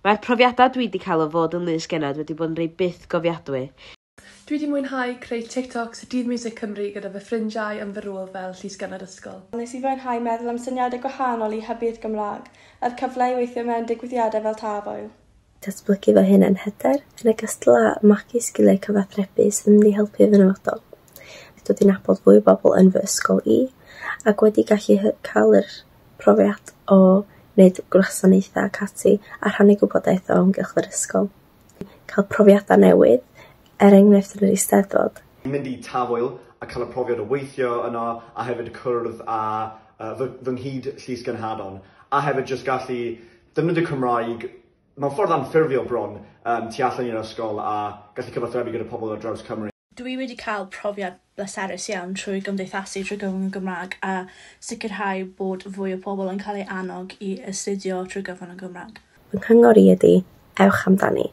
Mae'r profiadau dwi wedi cael o fod yn lysgennad wedi bod yn rhai bythgofiadwy. Dwi wedi mwynhau creu TikToks Dydd Miwsig Cymru gyda fy ffrindiau yn fy rôl fel llysgennad ysgol. Nes i fwynhau meddwl am syniadau gwahanol i hybu'r Gymraeg, a'r cyfle i weithio mewn digwyddiadau fel Tafwyl. Datblygu fy hunan hyder, yn ogystal â magu sgiliau cyfathrebu sydd yn mynd i helpu fy nyfodol. Dod i nabod fwy o bobl yn fy ysgol i, ac wedi gallu cael yr profiad o wneud gwasanaethau ac ati a rhannu gwybodaeth o amgylch yr ysgol. Cael profiadau newydd, er enghraifft yn yr Eisteddfod. Mynd i Tafwyl a cael y profiad o weithio yno a hefyd cwrdd â fy nghyd llysgenhadon a hefyd jyst gallu defnyddio Cymraeg mewn ffordd anffurfiol bron tu allan i'r ysgol a gallu cyfathrebu gyda pobl ar draws Cymru. Dwi wedi cael profiad bleserus iawn trwy gymdeithasu trwy gyfrwng y Gymraeg a sicrhau bod fwy o pobl yn cael eu annog i astudio trwy gyfrwng y Gymraeg. Fy nghyngor i ydy, ewch amdani.